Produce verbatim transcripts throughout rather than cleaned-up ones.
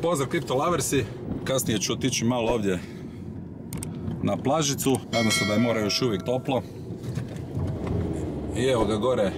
Pozdrav Crypto Loversi, kasnije ću otići malo ovdje na plažicu, nadam se da je more još uvijek toplo. I evo ga gore,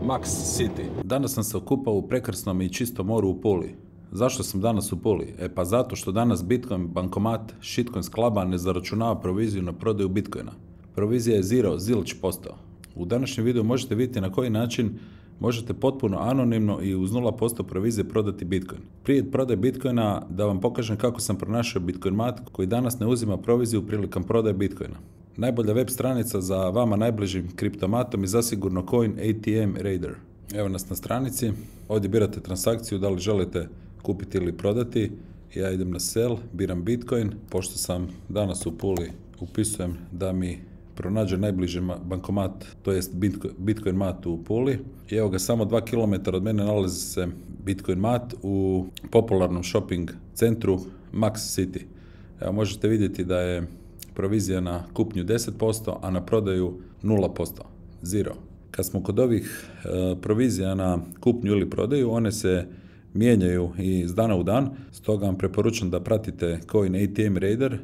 Max City. Danas sam se okupao u prekrasnom i čistom moru u Puli. Zašto sam danas u Puli? E pa zato što danas Bitcoin bankomat Shitcoins Cluba ne zaračunava proviziju na prodaju Bitcoina. Provizija je zero, zilč posto. U današnjem videu možete vidjeti na koji način možete potpuno anonimno i uz nula posto provizije prodati Bitcoin. Prije prodaje Bitcoina da vam pokažem kako sam pronašao Bitcoinmat koji danas ne uzima proviziju prilikom prodaje Bitcoina. Najbolja web stranica za vama najbližim kriptomatom je zasigurno Coin A T M Raider. Evo nas na stranici, ovdje birate transakciju, da li želite kupiti ili prodati. Ja idem na sell, biram Bitcoin, pošto sam danas u Puli, upisujem da mi pronađe najbliži bankomat, to jest Bitcoin mat u Puli. I evo ga, samo dva kilometra od mene nalazi se Bitcoin mat u popularnom shopping centru Max City. Evo, možete vidjeti da je provizija na kupnju deset posto, a na prodaju nula posto, zero. Kad smo kod ovih e, provizija na kupnju ili prodaju, one se mijenjaju iz dana u dan, stoga vam preporučam da pratite Coin A T M Raider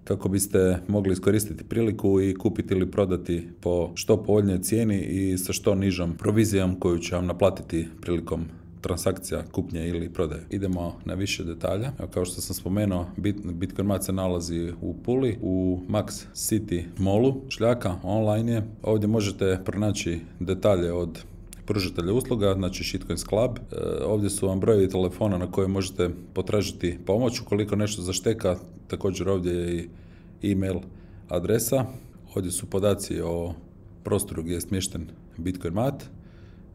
kako biste mogli iskoristiti priliku i kupiti ili prodati po što povoljnijoj cijeni i sa što nižom provizijom koju će vam naplatiti prilikom transakcija kupnje ili prodaje. Idemo na više detalja. Evo, kao što sam spomenuo, Bitcoinmat se nalazi u Puli, u Max City Mallu, šljaka, online je. Ovdje možete pronaći detalje od pružatelja usluga, znači Shitcoins Club. E, ovdje su vam brojevi telefona na koje možete potražiti pomoć ukoliko nešto zašteka. Također ovdje je i e-mail adresa. Ovdje su podaci o prostoru gdje je smješten Bitcoinmat.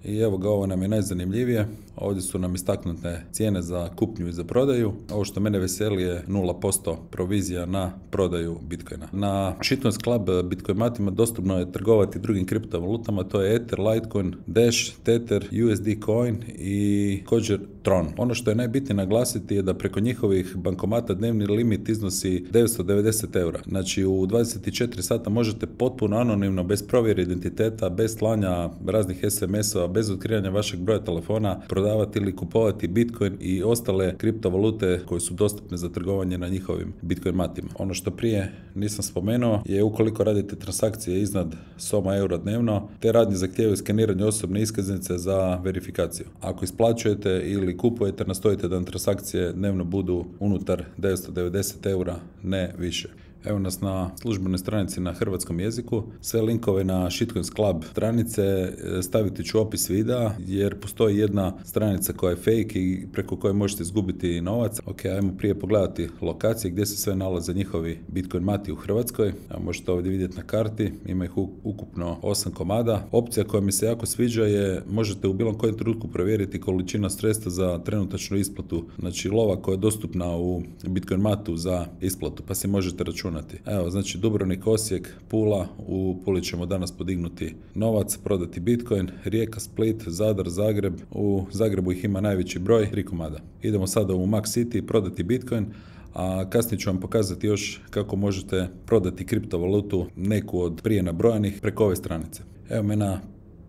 I evo ga, ovo nam je najzanimljivije. Ovdje su nam istaknute cijene za kupnju i za prodaju. Ovo što mene veseli je nula posto provizija na prodaju Bitcoina. Na Shitcoins Club Bitcoinmatima dostupno je trgovati drugim kriptovalutama, to je Ether, Litecoin, Dash, Tether, U S D Coin i također Tron. Ono što je najbitnije naglasiti je da preko njihovih bankomata dnevni limit iznosi devetsto devedeset eura. Znači u dvadeset četiri sata možete potpuno anonimno, bez provjere identiteta, bez slanja raznih es em esova, bez otkrivanja vašeg broja telefona, prodavati ili kupovati Bitcoin i ostale kriptovalute koje su dostupne za trgovanje na njihovim Bitcoin matima. Ono što prije nisam spomenuo je, ukoliko radite transakcije iznad soma eura dnevno, te radnje zahtijevaju skeniranje osobne iskaznice za verifikaciju. Ako isplaćujete ili kupujete, nastojite da transakcije dnevno budu unutar devetsto devedeset eura, ne više. Evo nas na službenoj stranici na hrvatskom jeziku. Sve linkove na Shitcoins Club stranice staviti ću u opis videa, jer postoji jedna stranica koja je fake i preko koje možete izgubiti novac. Ok, ajmo prije pogledati lokacije gdje se sve nalaze njihovi Bitcoin mati u Hrvatskoj. Evo, možete ovdje vidjeti na karti, ima ih ukupno osam komada. Opcija koja mi se jako sviđa je, možete u bilo kojem trenutku provjeriti količina sredstva za trenutačnu isplatu, znači lova koja je dostupna u Bitcoin matu za isplatu, pa si možete računati. Evo, znači Dubrovnik, Osijek, Pula, u Puli ćemo danas podignuti novac, prodati Bitcoin, Rijeka, Split, Zadar, Zagreb, u Zagrebu ih ima najveći broj, tri komada. Idemo sada u Max City prodati Bitcoin, a kasnije ću vam pokazati još kako možete prodati kriptovalutu, neku od prije nabrojanih, preko ove stranice. Evo me na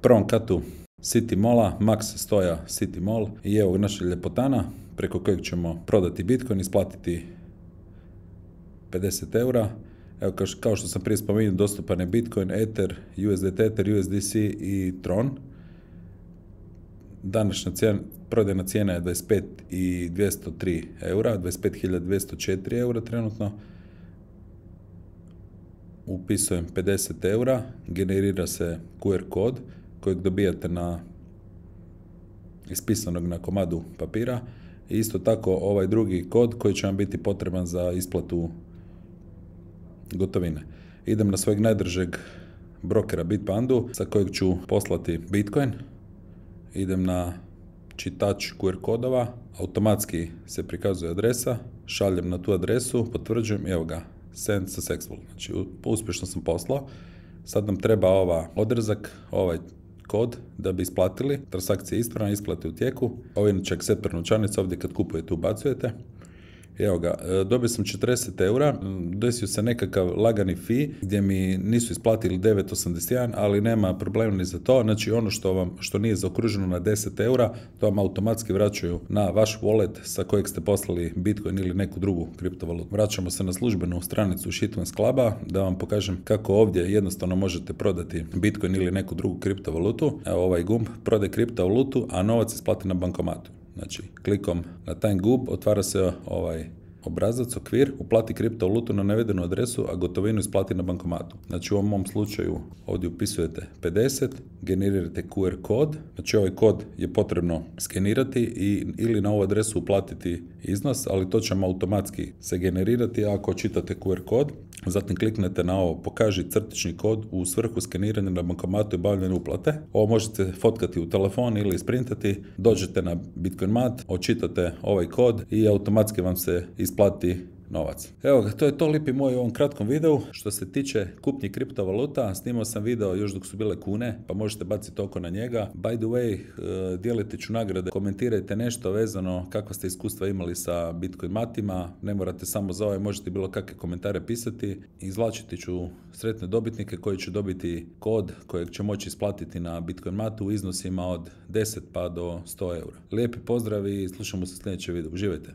prvom katu City Malla, Max stoja City Mall i evo naša ljepotana preko kojeg ćemo prodati Bitcoin, isplatiti pedeset eura. Evo, kao što sam prije spomenuo, dostupan je Bitcoin, Ether, U S D Tether, U S D C i Tron. Današnja cijena, prodajna cijena je dvadeset pet hiljada dvjesto tri eura, dvadeset pet hiljada dvjesto četiri eura trenutno. Upisujem pedeset eura, generira se Q R kod kojeg dobijate na ispisanog na komadu papira. I isto tako ovaj drugi kod koji će vam biti potreban za isplatu gotovine. Idem na svojeg najdržeg brokera Bitpandu sa kojeg ću poslati Bitcoin. Idem na čitač Q R kodova, automatski se prikazuje adresa, šaljem na tu adresu, potvrđujem i evo ga, send successful. Znači uspješno sam poslao. Sad nam treba ova odrezak, ovaj kod da bi isplatili. Transakcija je ispravna, isplate u tijeku. Ovo je inače akceptor novčanica, ovdje kad kupujete ubacujete. Evo ga, e, dobio sam četrdeset eura, desio se nekakav lagani fee gdje mi nisu isplatili devet osamdeset jedan, ali nema problema ni za to. Znači ono što vam što nije zaokruženo na deset eura, to vam automatski vraćaju na vaš wallet sa kojeg ste poslali Bitcoin ili neku drugu kriptovalutu. Vraćamo se na službenu stranicu Shitcoins Cluba da vam pokažem kako ovdje jednostavno možete prodati Bitcoin ili neku drugu kriptovalutu. Evo ovaj gumb, prodaj kriptovalutu, a novac isplati na bankomatu. Znači, klikom na taj gumb otvara se ovaj obrazac, okvir, uplati kriptovalutu na navedenu adresu, a gotovinu isplati na bankomatu. Znači u ovom mom slučaju ovdje upisujete pedeset, generirate Q R kod, znači ovaj kod je potrebno skenirati i ili na ovu adresu uplatiti iznos, ali to će vam automatski se generirati ako čitate Q R kod. Zatim kliknete na ovo pokaži crtični kod u svrhu skeniranja na bankomatu i obavljanja uplate. Ovo možete fotkati u telefon ili isprintati, dođete na Bitcoinmat, očitate ovaj kod i automatski vam se isplati novac. Evo ga, to je to lipi moj u ovom kratkom videu. Što se tiče kupnje kriptovaluta, snimao sam video još dok su bile kune, pa možete baciti oko na njega. By the way, dijelite ću nagrade, komentirajte nešto vezano kakva ste iskustva imali sa Bitcoin matima, ne morate samo za ovaj, možete bilo kakve komentare pisati. Izvlačiti ću sretne dobitnike koji će dobiti kod kojeg će moći isplatiti na Bitcoin matu u iznosima od deset pa do sto eura. Lijepi pozdrav i slušamo se u sljedećem videu. Uživajte!